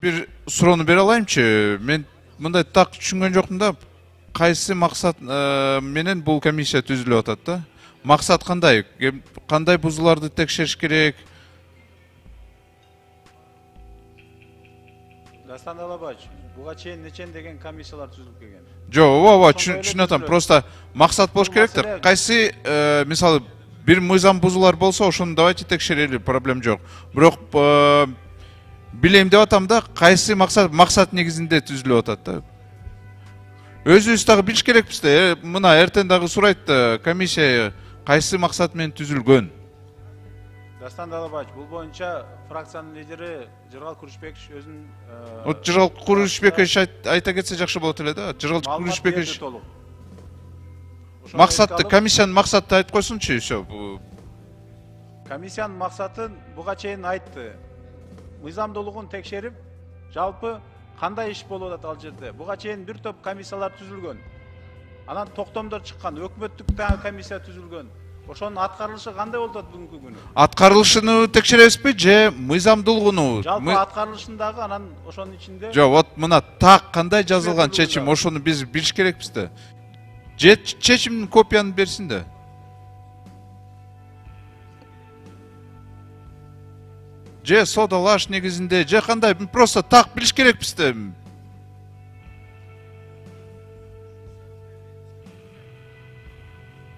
бир суроону бере алайымчы? Мен мындай так түшүнгөн жокмун да. Кайсы максат менен бул комиссия түзүлүп атат да? Максат кандай? Кандай бузууларды текшериш керек? Дастан Алабач, буга чейин нечен деген комиссиялар түзүлүп келген. Жок, ооба, түшүнүп атам. Просто максат болуш керектир. Кайсы мисалы бир мыйзам бузуулар болсо, ошону давайте текшерели, проблем жок. Бирок билем деп атам да, кайсы максат негизинде түзүлүп атат да. Өзүбүз дагы билиш керекпиз да. Мына эртең дагы сурайт да, комиссия кайсы максат менен түзүлгөн? Дастан Алабач, бул боюнча фракциянын лидери Жыргал Курушбекович өзүнүн Жыргал Курушбекович айта кетсе жакшы болот эле да. Жыргал Курушбекович максатты, комиссиянын максатын айтып койсунчу, всё. Комиссиянын максатын буга чейин айтты. Мыйзамдуулугун текшерип, жалпы кандай иш болуп атат ал жерде. Буга чейин бир топ комиссиялар түзүлгөн. Анан токтомдор чыккан, өкмөттүк комиссия түзүлгөн. Ошонун аткарылышы кандай болуп атат бүгүнкү күнү? Аткарылышын текшеребизби же мыйзамдуулугуну? Жалпы аткарылышын дагы анан ошонун ичинде. Жок, вот мына так кандай жазылган чечим, ошону биз билиш керекпиз да. Же чечимдин копияны берсин да. Же содалаш негизинде, же кандай, просто так билиш керекпиз да.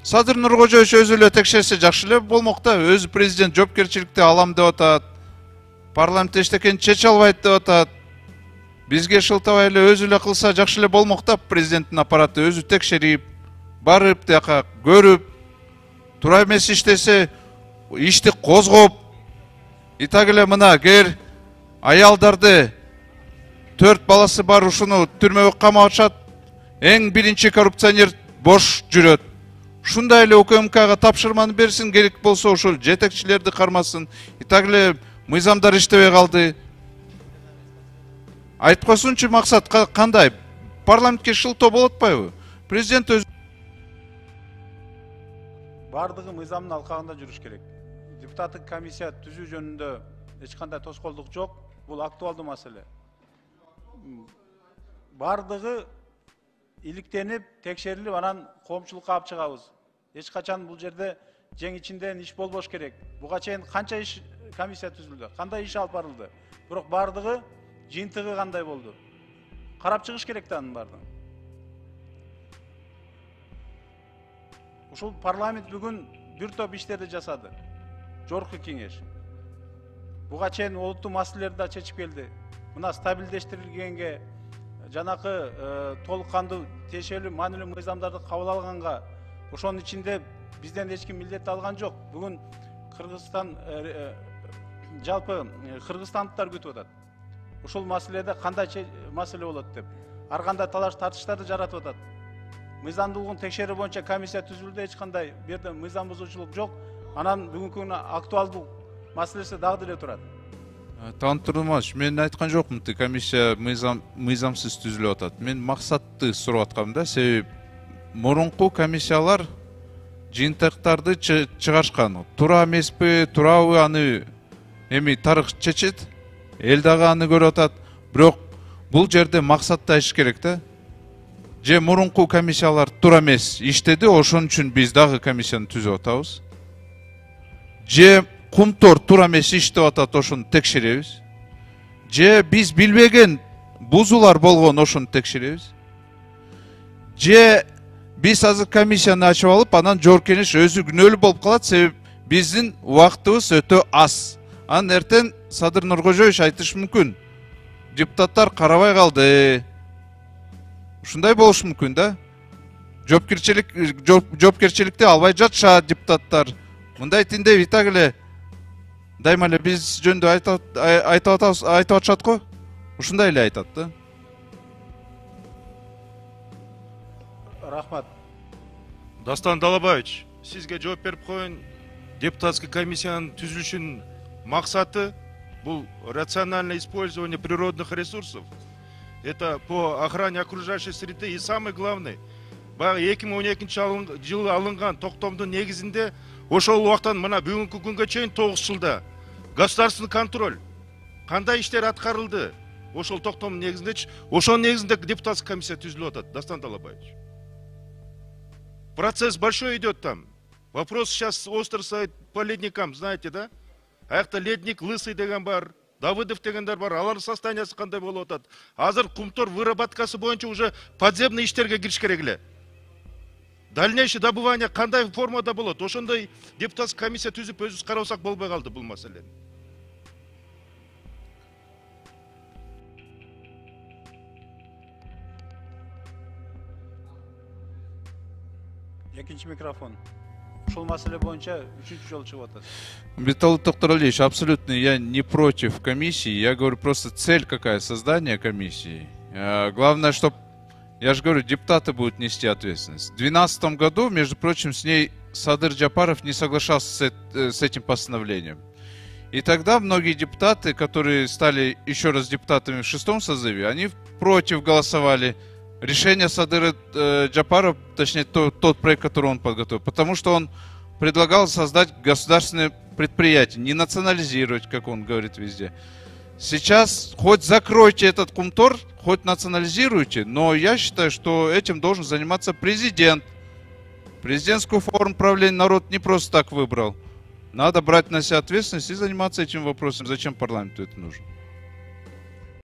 Садыр Нуркожоевич өзү эле текшерсе жакшы эле болмок да. Өзү президент жоопкерчиликти алам деп атат. Парламент эчтекени чече албайт деп атат. Бизге шылтабай эле өзү эле кылса жакшы эле болмок да. Президенттин аппараты өзү текшерип, барып тияка көрүп, туура эмес иштесе ишти козгоп, и так эле мына кер аялдарды 4 баласы бар ушуну түрмөгө камап атышат. Эң биринчи коррупционер бош жүрөт. Ушундай эле УКМКга тапшырманы берсин, керек болсо ошол жетекчилерди кармасын. И так эле мыйзамдар иштебей калды. Айтып койсунчу, максат кандай? Парламентке шылтоо болуп атпайбы? Президент өзү бардыгы мыйзамдын алкагында жүрүш керек. Депутаттык комиссия түзүү жөнүндө эч кандай тоскоолдук жок. Бул актуалдуу маселе. Бардыгы иликтенип, текшерилип, анан коомчулукка алып чыгабыз. Эч качан бул жерде жең ичинден иш болбош керек. Буга чейин канча иш комиссия түзүлдү, кандай иш алып барылды. Бирок бардыгы жыйынтыгы кандай болду? Карап чыгыш керек да анын бардыгын. Ушул парламент бүгүн бир топ иштерди жасады. Жогорку кеңеш. Буга чейин олуттуу маселелерди да чечип келди. Мына стабилдештирилгенге, жанакы толук кандуу тиешелүү маанилүү мыйзамдарды кабыл алганга, ошонун ичинде бизден эч ким милдет алган жок. Бүгүн Кыргызстан жалпы кыргызстандыктар күтүп атат. Ушул маселеде кандай маселе болот деп. Ар кандай талаш тартыштарды жаратып атат. Мыйзамдуулугун текшерүү боюнча комиссия түзүлдү, эч кандай бу жерде мыйзам бузуучулук жок. Анан бүгүнкү күнү актуалдуу маселеси дагы деле турат. Тантурмаш, мен айткан жокмун, комиссия мыйзамсыз түзүлүп атат. Мен максатты сурап аткам да, себеби мурунку комиссиялар жыйынтыктарды чыгарышкан. Туура эмеспи, туурабы, аны эми тарых чечет, эл дагы аны көрүп атат. Бирок бул жерде максатты айтыш керек да. Же мурунку комиссиялар туура эмес иштеди, ошон үчүн биз дагы комиссияны түзүп атабыз. Же кумтор туура эмес иштеп атат, ошону текшеребиз. Же биз билбеген бузуулар болгон, ошону текшеребиз. Же биз азыр комиссияны ачып алып, анан жоопкерчилик өзү күнөөлүү болуп калат, себеби биздин убактыбыз өтө аз. Анан эртең Садыр Нуркожоевич айтышы мүмкүн. Депутаттар карабай калды. Ушундай болуш мүмкүн да. Жоопкерчиликти албай жатышат депутаттар. Мындай тиндей и так эле дайыма эле биз жөнүндө айтып атышат го. Ушундай эле айтат да. Рахмат. Дастан Далабаевич, сизге жооп берип коеюн. Депутатский комиссиянын түзүлүшүнүн максаты бул рациональное использование природных ресурсов. Это по охране окружающей среды и самый главный. Баягы 2012 жылы алынган токтомдун негизинде ошол убактан мына бүгүнкү күнгө чейин 9 жылда государственный контроль кандай иштер аткарылды? ошол токтомдун негизиндечи, ошонун негизинде депутатский комиссия түзүлүп атат, Дастан Талабаевич. Процесс большой идет там. Вопрос сейчас остро стоит по ледникам, знаете, да? Аякта ледник Лысый деген бар, Давыдов дегендер бар, алардын состояниясы кандай болуп атат. Азыр кумтор выработкасы боюнча уже подземный иштерге кириш керек эле. Дальнейшее добывание кандай формада болот? Ошондой депутатский комиссия түзүп өзүбүз карабасак болбой калды бул маселени. Экинчи микрофон. Ушул маселе боюнча үчүнчү жолу чыгып атат. Виталий Токторалиевич, абсолютно я не против комиссии. Я говорю, просто цель какая, создание комиссии. Главное, чтобы, я же говорю, депутаты будут нести ответственность. В 2012 году, между прочим, с ней Садыр Джапаров не соглашался с этим постановлением. И тогда многие депутаты, которые стали еще раз депутатами в 6-м созыве, они против голосовали. Решение Садыра Джапарова, точнее тот проект, который он подготовил, потому что он предлагал создать государственное предприятие, не национализировать, как он говорит везде. Сейчас хоть закройте этот кумтор, хоть национализируйте, но я считаю, что этим должен заниматься президент. Президентскую форму правления народ не просто так выбрал. Надо брать на себя ответственность и заниматься этим вопросом. Зачем парламенту это нужно?